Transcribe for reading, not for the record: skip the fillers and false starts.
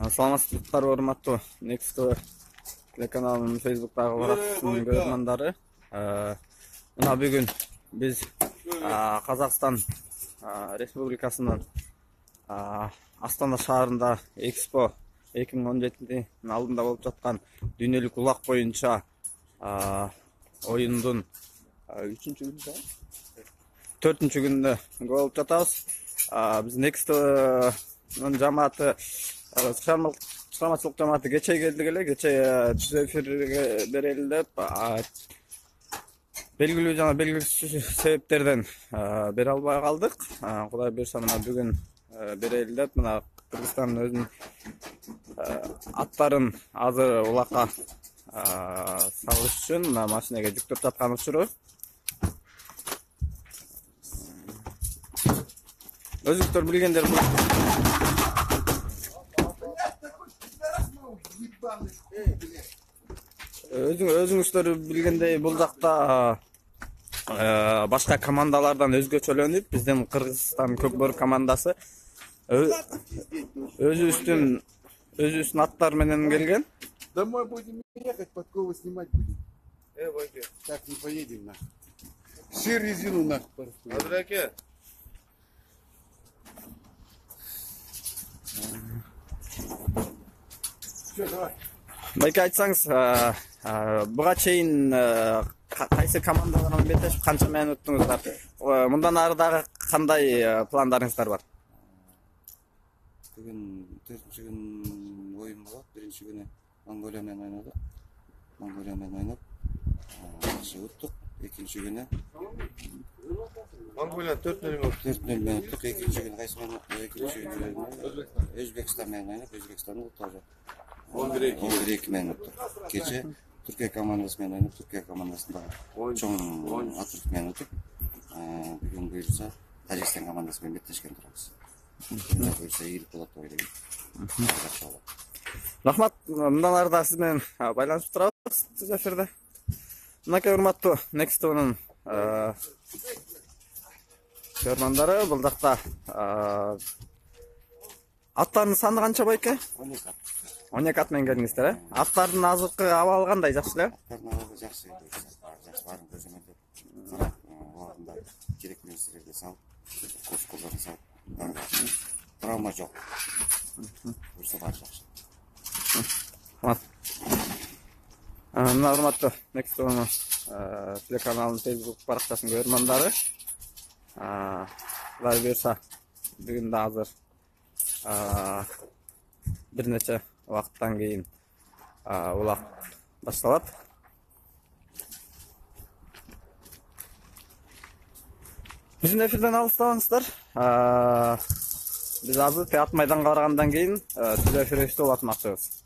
Саламатсыздар, урматтуу Next телеканалынын Facebook'тагы баракчысынын көрөрмандары. Мына бүгүн биз Казакстан Республикасынын Астана шаарында Экспо 2017 алдында болуп жаткан дүйнөлүк улак боюнча оюндун 4-күнүндө болуп жатабыз. Биз Next жамааты чыгармачылык жамааты кечээ келдик эле. Кечээ түз эфирге берели деп белгилүү жана белгисиз себептерден бере албай калдык. Кудай буюрса мына бүгүн берели деп мына Кыргызстандын өзүнүн аттарын азыр улакка салыш үчүн мына машинеге жүктөп жаткан учуру. Өзүңүздөр билгендер өзүңүздөр билгендей бул жакта башка командалардан өзгөчөлөнүп биздин Кыргызстан Көкбөрү командасы өзүбүздүн аттар менен келген. Домой будем ехать, подковы снимать будем. Байке. Так не поедем нахуй. Все резину нахуй. Адыраке. Все, давай. Байке, айтсаңыз, буга чейин кайсы командалардан беттешип канча менен өттүңүздөр? Мындан ары дагы кандай пландарыңыздар бар? Бүгүн 4-күн оюн болот. Биринчи күнү Монголия менен ойнодук. Монголия менен ойноп, жакшы уттук. Экинчи күнү Монголия 4-0 менен уттук. Экинчи күнү кайсы ойнодук? Экинчи күнү Өзбекстан менен ойноп, Өзбекстандын уттук. 11-2 менен уттук. Кече Түркия командасы менен ойноп, Түркия командасында чоң отрыв менен уттук. Бүгүн буюрса Тажикстан командасы менен беттешкен турабыз. Бүгүн буюрса ийгилик болот деп ойлойм. Рахмат, мындан ары да сиз менен байланышып турабыз түз эфирде. Мынакей урматтуу Next'нын көрөрмандары, бул жакта аттардын саны канча байке? 12 ат менен келдиңиздер, Аттардын азыркы абалы кандай, жакшы эле? Аттардын абалы жакшы. Жакшы баарын көзөмөлдөп, карап, аларында керек нерселерди салып, колдорун салып, травма жок. Буюрса баары жакшы. Мына урматтуу Next'нын телеканалынын Facebook баракчасынын көрөрмандары, Кудай буюрса бүгүн да азыр бир нече убакыттан кийин улак башталат. Биздин эфирден алыстабаңыздар. Биз азыр театр майданга баргандан кийин түз эфирибизди улатмакчыбыз.